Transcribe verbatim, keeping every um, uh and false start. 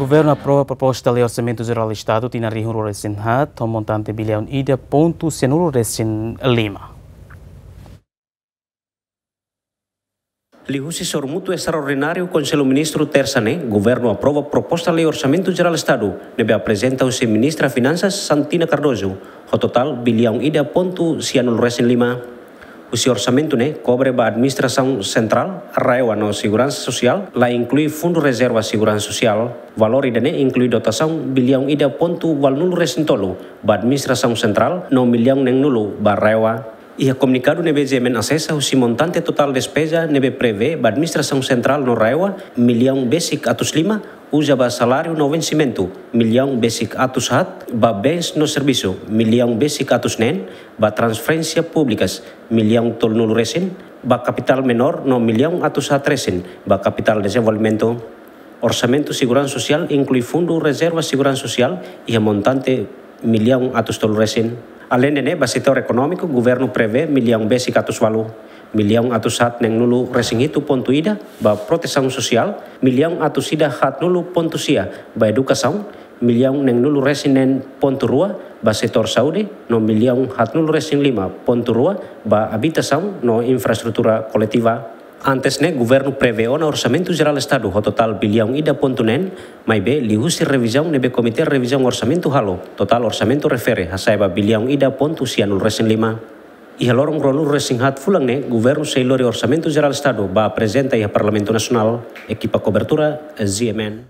Governu aprova proposta lei Orsamentu Jerál Estadu tinan rihun rua resin haat ho montante biliaun ida pontu sianulu resin lima. Liuhusi sorumutu estraordináriu Konsellu Ministru Tersa ne'e, Governu aprova proposta lei Orsamentu Jerál Estadu ne'ebé aprezenta husi Ministra Finansas Santina Cardoso, ho totál biliaun ida pontu sianulu resin lima. Husi orsamentu ne'e kobre ba administrasaun sentrál, RAEOA no seguransa sosiál, la inklui fundu rezerva seguransa sosiál. Valór ida-ne'e inklui dotasaun biliaun ida pontu ualunulu resin tolu ba administrasaun sentrál no miliaun neenulu ba RAEOA. Iha komunikadu ne'ebé GMN asesa, husi montante totál despeza ne'ebé prevee ba administrasaun sentrál no RAEOA, miliaun besik atus lima, uza ba saláriu no vensimentu, miliaun besik atus haat, ba bens no servisu, miliaun besik atus neen, ba transferénsia públikas, miliaun tolunulu resin, ba kapitál menór no miliaun atus haat resin ba kapitál dezenvolvimentu. Orsamentu seguransa sosiál inklui fundu rezerva seguransa sosiál iha montante miliaun atus tolu resin. Aleinde ne'e, ba setór ekonómiku, Governu prevee miliaun besik atus ualu, miliaun atus haat neenulu resin hitu pontu ida ba protesaun sosiál, miliaun atus ida haatnulu pontu sia ba edukasaun, miliaun neenulu resin neen pontu rua ba setór saúde, no miliaun haatnulu resin lima pontu rua ba abitasaun no infraestrutura koletiva. Antes ne'e, Governu prevee ona Orsamentu Jerál Estadu ho totál biliaun ida pontu neen, maibé liuhusi revizaun ne'ebé Komité Revizaun Orsamentu halo, totál orsamentu refere hasa'e ba biliaun ida pontu sianulu resin lima. Iha loron ruanulu resin haat fulan ne'e, Governu sei lori Orsamentu Jerál Estadu ba aprezenta iha Parlamentu Nasionál. Ekipa kobertura, GMN.